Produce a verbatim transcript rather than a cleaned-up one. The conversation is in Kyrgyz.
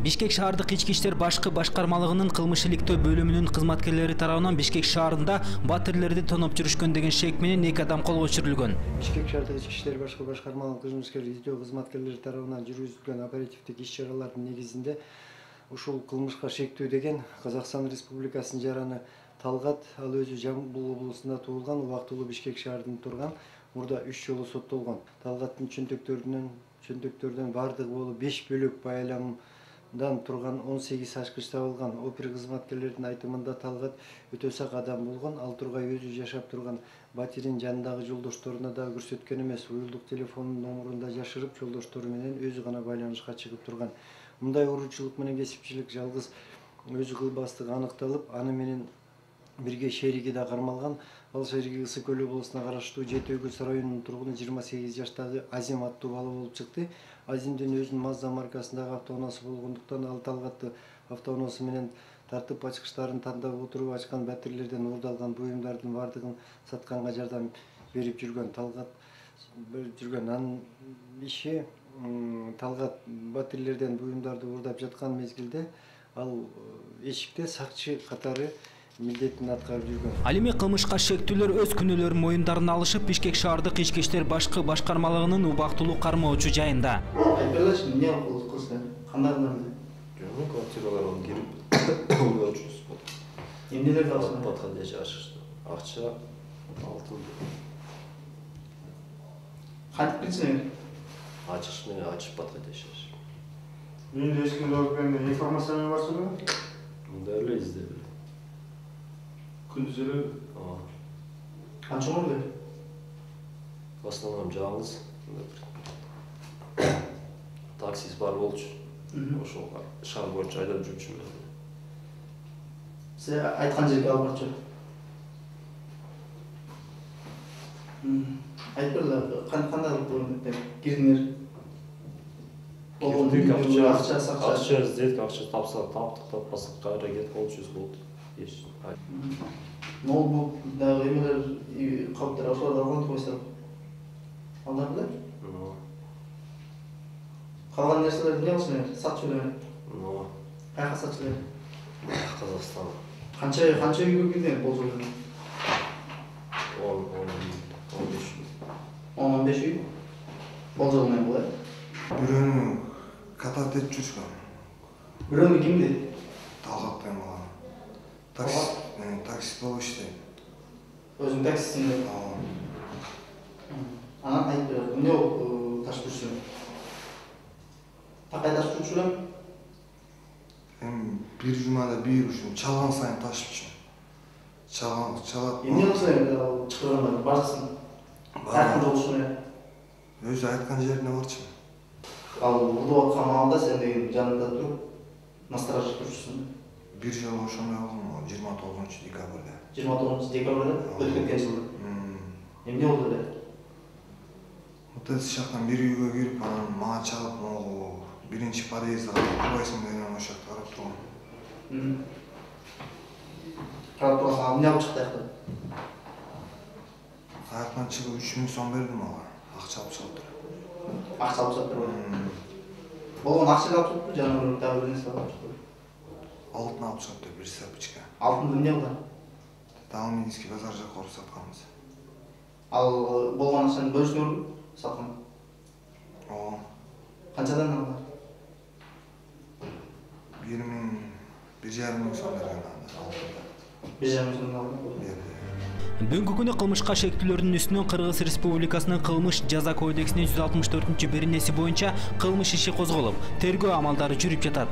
Бишкек шаардык ички иштер башкы башкармалыгынын кылмыш иликтөө бөлүмүнүн кызматкерлери тарабынан Бишкек шаарында батирлерди тоноп жүрүшкөн деген шек менен эки адам колго түшүрүлгөн. Бишкек шаардык ички иштер башкы башкармалыгынын кылмыскер издөө кызматкерлери тарабынан жүргүзүлгөн оперативдик иш-чаралардын негизинде ушул кылмышка шектүү деген Казакстан Республикасынын жараны Талгат, ал өзү Жамбыл облусунда туулган, убактылуу Бишкек шаарында турган, мурда үч жолу соттолгон. Талгаттын чөнтөктөрүнөн чөнтөктөрдөн бардыгы болуп беш бөлөк байламдан турган он сегиз ачкыч табылган. Опер кызматкерлердин айтымында Талгат өтө сак адам болгон, ал тургай өзү жашап турган батирин жанындагы жолдошторуна да көрсөткөн эмес, уюлдук телефонун номурун жашырып, жолдоштору менен өзү гана байланышка чыгып турган. Мындай уруучулук менен кесипчилик жалгыз өзү кылбастыгы аныкталып, аны менен бирге шериги да кармалган. Ал шериги Ысык Көл облусуна караштуу Жети Өгүз районунун тургуну жыйырма сегиз жаштагы Азим аттуу бала болуп чыкты. Азимдин өзүнүн Mazda маркасындагы автоунаасы болгондуктан ал Талгатты автоунаасы менен тартып ачкычтарын тандап отуруп ачкан батирлерден уурдалган буюмдардын бардыгын сатканга жардам берип жүргөн. Талгат жүргөн анын иши Талгат батирлерден буюмдарды уурдап жаткан мезгилде ал эшикте сакчы катары милдетин аткарып жүргөн. Ал эми кылмышка шектүүлөр өз күнөөлөрүн моюндарына алышып, Бишкек шаардык ички иштер башкы башкармалыгынын убактылуу кармоочу жайында. Айтпайлачы, эмне кылдың? Кандай кылдың? Жок, квартираларга кирип, уйлашыбыз болду. Эмнелерди алсың? Подходящий ашышты. Акча, алтын. Кантип билсең? Ачыш менен ачып подходящий. Мен эч кимге берген информация бар суда? Мындай эле издеп. Күндүз эле? Ооба. Канча болду? В основном жалгыз. Таксист бар болчу. Ошол шаар боюнча айдап жүрчүмүн. Сиз айткан жерге алып барчу. Айтпайлар, кандай кылып кирдиңер? Болгондук акча, акча издедик, акча тапсак таптык, таппасак кайра кетип болчубуз болду. Ноутбук дагы эмелер калыптар ошолорду алган койсо. Алар беле? Калган нерселерди эмне кылсыңар? Сатчу эле? Ооба. Кайга сатчу эле? Казакстан. Канча канча үйгө кирдиңер болжол? он он беш. он беш үй? Болжол менен бул э? Бирөөнү катар тетип жүрүшкөн. Бирөөнү кимди? Талгаттан болгон. Такси, таксист болуп иштейт. Өзүң таксистсиң да? Ооба. Анан айтып бер, эмне болуп ташып жүрсүң? Такай ташып жүрчү элем? Эми бир жумада бир ушун чалган сайын ташып жүрчүм. Чалган, чалат. Эмне кылсаң чыгарганда барсың? Айткан жолдошуң эле? Өзү айткан жерине барчы. Ал уурдап аткан маалда сен деген жанында туруп, насторожить турчусуң. Бир жолу ошондой болгон, жыйырма тогузунчу декабрда. жыйырма тогузунчу декабрда өтүп кеткен жылы. Эмне болду эле? Вот эти жактан бир үйгө кирип, анан мага чалып, могу биринчи подъездге турбайсың деген ошол жакта карап турган. Карап турсаң, эмне алып чыкты аяктан? Аяктан чыгып үч миң сом бердим ага. Акча алып чыгып туруп. Акча алып чыгып туруп. Болгон акча алып чыгып, жана дагы бир нерсе алып чыгып. Алтын алып чыгып, бир сапочка. Алтынды эмне кылган? Талминский базар жакка уруп сатканбыз. Ал болгон акчаны бөлүшүңөрбү? Саткан. Ооба. Канчадан алдың? бир миң, бир жарым миң сом берген анда. бир жарым миң сом алдың? Бүгүнкү күнү кылмышка шектүүлөрдүн үстүнөн Кыргыз Республикасынын кылмыш жаза кодексинин жүз алтымыш төртүнчү беренеси боюнча кылмыш иши козголуп, тергөө амалдары жүрүп жатат.